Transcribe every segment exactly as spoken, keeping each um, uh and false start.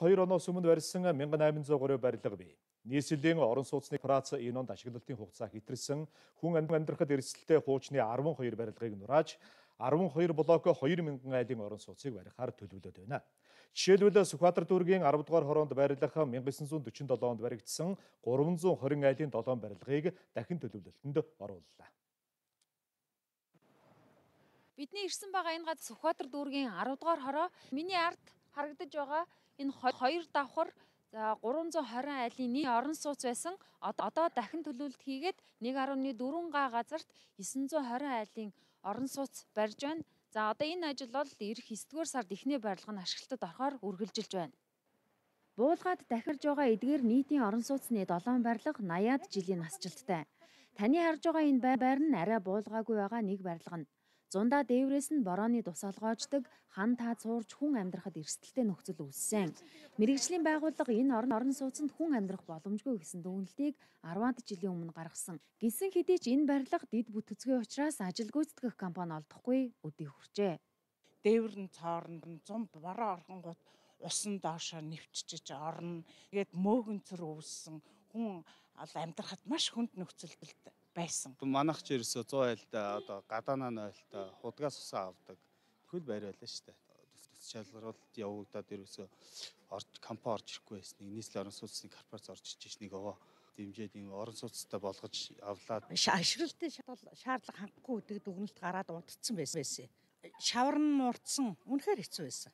хоёр оноос өмнө барьсан мянга найман зуун гурав барилга бий. Нийслэлийн орон сууцны прац энэ онд ашиглалтын хугацаа хэтэрсэн хүн амьдрахад эрсдэлтэй хуучны арван хоёр барилгыг нурааж арван хоёр блок хоёр мянган айлын орон сууцыг барихаар төлөвлөд байна. Жишээлбэл Сүхбаатар дүүргийн арав дугаар хороонд барилах мянга900 47 онд баригдсан гурван зуун хорин айлын долоон барилгыг дахин төлөвлөлтөнд орууллаа. Бидний ирсэн байгаа энэ газар Сүхбаатар дүүргийн арав дугаар хороо. Миний ард харагдаж байгаа энэ хоёр давхар за гурван зуун хорин айлын нэг орон сууц байсан. Одоо дахин төлөвлөлт хийгээд нэг гаруй дөрвөн га газарт есөн зуун хорин айлын орон сууц барьж байна. За одоо энэ ажил бол эх есдүгээр сард эхний барилга нь ашиглалтад орохоор үргэлжилж байна. Буулгаад дахирж байгаа эдгээр нийтийн орон сууцны долоон барилга наяад жилийн насжилттай. Таны харж байгаа энэ байр нь арай буулгаагүй байгаа нэг барилга нь. Зундаа дээврээс нь борооны тусаалгоождаг хан таа цуурж хүн амьдрахад эрсдэлтэй нөхцөл үүссэн. Мэргэжлийн байгууллага энэ орон орон сууцнд хүн амьдрах боломжгүй гэсэн дүгнэлтийг арваад жилийн өмнө гаргасан. Гисэн хэдий ч энэ барилга дэд бүтэцгүй учраас ажил гүйцэтгэх компани олдохгүй өдий хүрчээ. Дээвэр нь цоорнд нь зам бороо орхонгууд усан доошоо нэвччихэж орно. Тэгээд мөөгөнцөр үүссэн хүн амьдрахад маш хүнд нөхцөлд байсан. Манайх ч ерөөсөө зуун айлтай одоо гадаанаа нойлтой худгаас усаа авдаг. Тэгвэл байр байлаа шүү дээ. Төс шалгаруулалт явагдаад ерөөсөө орж компани орж ирэхгүй байсныг нийслэлийн орон сууцны корпорац орж ичж нэг овоо дэмжээд ийм орон сууцтай болгож авлаад ашиглалтын шаардлага хангахгүй гэдэг дүгнэлт гараад удацсан байсан. Шавар нь урдсан. Үнэхээр хэцүү байсан.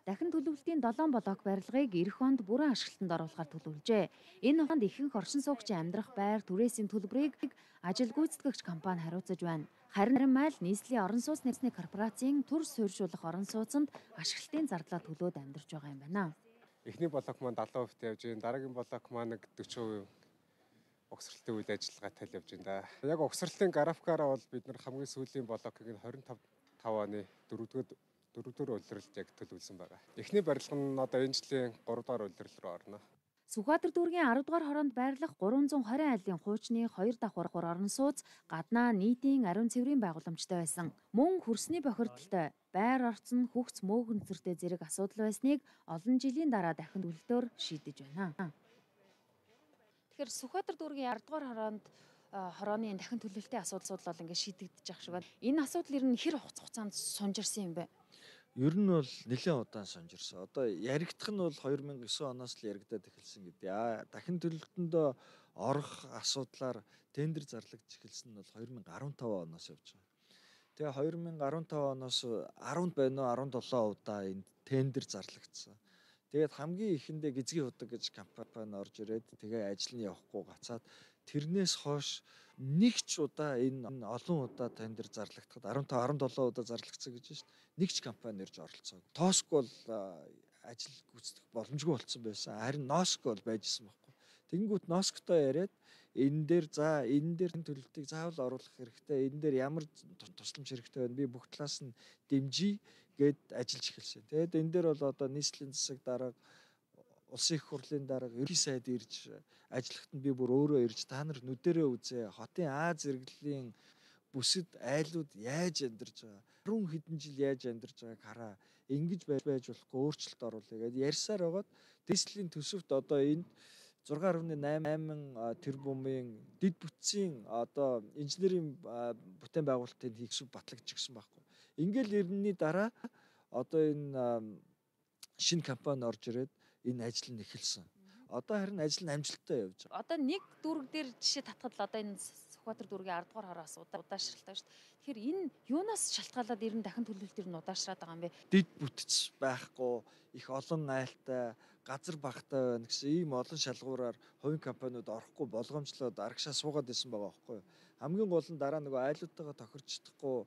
Дахин төлөвлөлтийн долоон блок барилгыг эх онд бүрэн ашиглалтанд оруулахар төлөвлөжээ. Энэ хонд ихэнх оршин суугчийн амьдрах байр түрээсийн төлбөрийг ажил гүйцэтгэгч компани хариуцаж байна. Харин майл нийслэлийн орон сууцны корпорацийн төр суурьшуулах орон сууцнд ашиглалтын зардлаа төлөөд амьдарч байгаа юм байна. Эхний блок маань долоон хувьтай явж байна. Дараагийн блок маань нэг дөрвөн хувь угсралтын үйл ажиллагаатай явж байна. Яг угсралтын графикаараа бол бид нар хамгийн сүүлийн блокийг нь двадцать five оны дөрөвдүгээр дөрөвдүгээр улирлд яг төлөвлөсөн байгаа. Эхний барилга нь одоо энэ жилийн гурав дахь улирал руу орно. Сүхбаатар дүүргийн арав дугаар хороонд байрлах гурван зуун хорин айлын хуучны хоёр давхар орон сууц гаднаа нийтийн ариун цэврийн байгууламжтай байсан. Мөн хөрсний бохирдолтой байр орцсон хөгц мөөгөнцөртэй зэрэг асуудал байсныг олон жилийн дараа дахин төлөлтөөр шийдэж байна. Тэгэхээр Сүхбаатар дүүргийн арав дугаар хороонд хорооны дахин төлөвлөлтийн асуудал бол ингээд шийдэгдэж байгаа шиг байна. Энэ асуудал ер нь хэр хугацаанд сунжирсан юм бэ? Ер нь бол нэлээд удаан сонжирсан. Одоо яригдах нь бол хоёр мянган девять оноос л яригдаад эхэлсэн гэдэг. Аа дахин төлөлтөнд орох асуудлаар тендер зарлагдж эхэлсэн нь бол хоёр мянган арван five оноос явж байгаа. Тэгээ хоёр мянган арван five оноос ten байна уу seventeen удаа энэ тендер зарлагдсан. Тэгээд хамгийн ихэндээ Гизгийн удаг гэж компани орж ирээд тэгээ ажил нь явахгүй гацаад тэрнээс хойш нэг ч удаа энэ олон удаа тендер зарлагдахад ten seventeen удаа зарлагдсан гэж байна шүү дээ. Нэг ч компани ирж оролцоогүй. Тоск бол ажил гүйцэтгэх боломжгүй болсон байсан. Харин Носк бол байжсэн байхгүй. Тэнгүүт Носктой яриад энэ дээр за энэ дээр төлөлтийг заавал оруулах хэрэгтэй. Энэ дээр ямар тусламж хэрэгтэй байна. Би бүх талаас нь дэмжиж гээд ажиллаж эхэлсэн. Тэгээд энэ дээр бол одоо нийслэлийн засаг дарга улсын их хурлын дарга ерхий сайд ирж ажиллахад нь би бүр өөрөө ирж та нар нүдэрээ үзээ. Хотын Аз зэрэглэлийн бүсэд айлууд яаж амьдарч байгаа. Харин хэдэн жил яаж амьдарч байгааг хараа. Ингэж байж байж болохгүй өөрчлөлт оруулъя гэдээ ярьсаар байгаад нийслэлийн төсөвт одоо энд six point eight тэрбумын дэд бүтцийн одоо инженерийн бүтээн байгуулалтын хийгсв батлагдчихсан байхгүй. Ингээл ирнэний дараа одоо энэ шинэ компани орж ирээд энэ ажил нь эхэлсэн. Одоо харин ажил нь амжилттай явж байгаа. Одоо нэг дүүрэг дээр жишээ татхад л одоо энэ Сүхбаатар дүүргийн арав дугаар хороос удаашралтай шүү дээ. Тэгэхээр энэ юунаас шалтгаалаад ер нь дахин төлөвлөлт ер нь удаашраад байгаа юм бэ? Дэд бүтц байхгүй, их олон айлтай, газар багтай байна гэсэн ийм олон шалгуураар хувийн компаниуд орохгүй болгоомжлоод арагшаа суугаад байсан байгаа байхгүй юу. Хамгийн гол нь дараа нөгөө айлуудтайгаа тохирч чадахгүй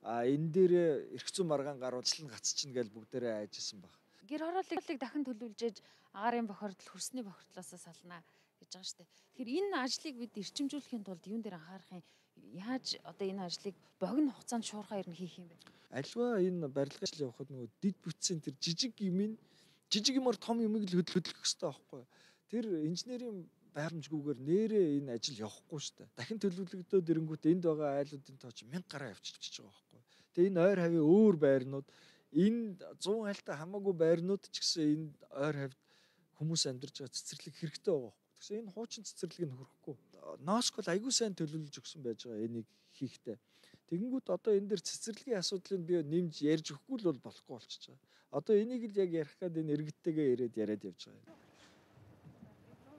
а энэ дээр эрх зүйн маргаан гаруулчлан гацчихна гэж бүгдээрээ айжсэн баг. Гэр хорооллыг дахин төлөвлөжээж агарын бохирдол хөрсний бохирдлоос салнаа гэж байгаа шүү дээ. Тэгэхээр энэ ажлыг бид эрчимжүүлэхийн тулд юун дээр анхаарах юм? Яаж одоо энэ ажлыг богино хугацаанд шуурхаа ер нь хийх юм бэ? Альва энэ барилгын ажил явахад нөгөө дид бүтцийн тэр жижиг юмын жижиг юмар том юмыг л хөдөлгөх хэрэгтэй байхгүй юу? Тэр инженерийн байрамжгүйгээр нэрээ энэ ажил явахгүй шүү дээ. Дахин төлөвлөгдөөд ирэнгүүт энд байгаа айлуудын тоо чи мянга гараа авчирч байгаа байхгүй юу? Тэгээ энэ ойр хавийн өөр байрнууд энэ сто айлтай хамаагүй байрнууд ч гэсэн энэ ойр хавьд хүмүүс амьдарч байгаа цэцэрлэг хэрэгтэй байгаа байхгүй. Тэгсэн энэ хуучин цэцэрлэг нь хөрөхгүй. Носк бол аягүй сайн төлөвлөж өгсөн байж байгаа энийг хийхдээ. Тэгэнгүүт одоо энэ дэр цэцэрлэгийн асуудлыг би нэмж ярьж өгөхгүй л бол болохгүй болчихж байгаа. Одоо энийг л яг ярих гээд энэ иргэдтэйгээ ирээд яриад явж байгаа юм.